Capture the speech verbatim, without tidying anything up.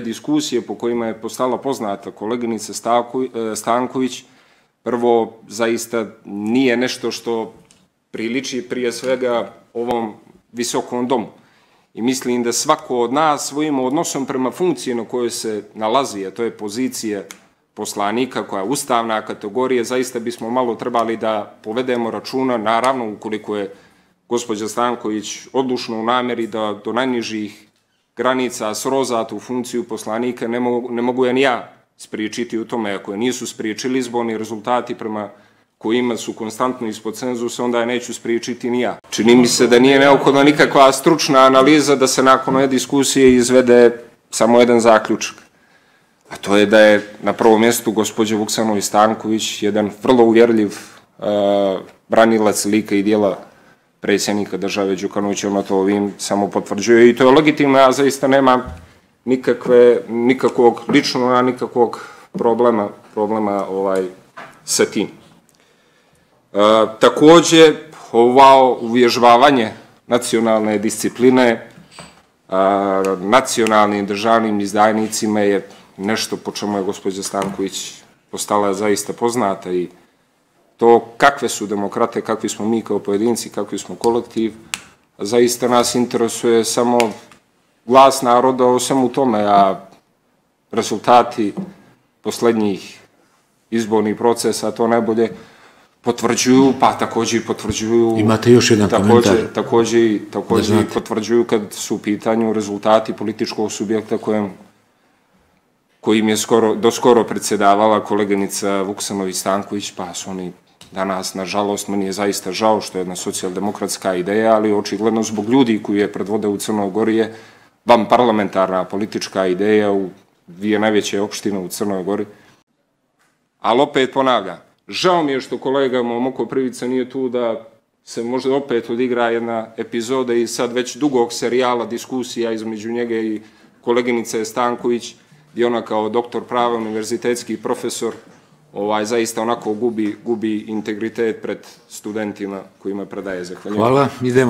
Diskusije po kojima je postala poznata koleginica Stanković, prvo, zaista nije nešto što priliči prije svega ovom visokom domu. I mislim da svako od nas svojim odnosom prema funkciji na kojoj se nalazi, a to je pozicija poslanika koja je ustavna kategorija, zaista bismo malo trebali da povedemo računa, naravno ukoliko je gospođa Stanković odlučna u nameri da do najnižih granica sroza tu funkciju poslanika, ne mogu, ne mogu je ni ja spriječiti u tome. Ako je nisu spriječili izborni rezultati prema kojima su konstantno ispod cenzusa, onda je neću spriječiti ni ja. Čini mi se da nije neophodna nikakva stručna analiza da se nakon ove diskusije izvede samo jedan zaključak. A to je da je na prvom mjestu gospođa Vuksanović Stanković jedan vrlo uvjerljiv uh, branilac lika i dijela predsjednika države Đukanovića, ono to ovim samo potvrđuje i to je legitimno, ja zaista nemam nikakve, nikakvog ličnog, nikakvog problema, problema ovaj, sa tim. E, također, ovo uvježbavanje nacionalne discipline a, nacionalnim državnim izdajnicima je nešto po čemu je gospođa Stanković postala zaista poznata i to kakve su demokrate, kakvi smo mi kao pojedinci, kakvi smo kolektiv, zaista nas interesuje samo glas naroda o svemu tome, a rezultati posljednjih izbornih procesa to najbolje potvrđuju, pa također i potvrđuju... Imate još jedan komentar? Također, također i potvrđuju kad su u pitanju rezultati političkog subjekta kojem kojim je skoro, doskoro predsjedavala koleginica Vuksanović Stanković, pa su oni danas, nažalost, meni je zaista žao što je jedna socijaldemokratska ideja, ali očigledno zbog ljudi koji je predvode u Crnoj Gori je vam parlamentarna politička ideja u dvije najveće opštine u Crnoj Gori. Ali opet ponavljam, žao mi je što kolega Momoko Privica nije tu da se možda opet odigra jedna epizoda i sad već dugog serijala diskusija između njega i koleginice Stanković, gdje ona kao doktor prava, univerzitetski profesor, ovaj, zaista onako gubi, gubi integritet pred studentima kojima predaje. Zahvaljujem. Hvala, idemo.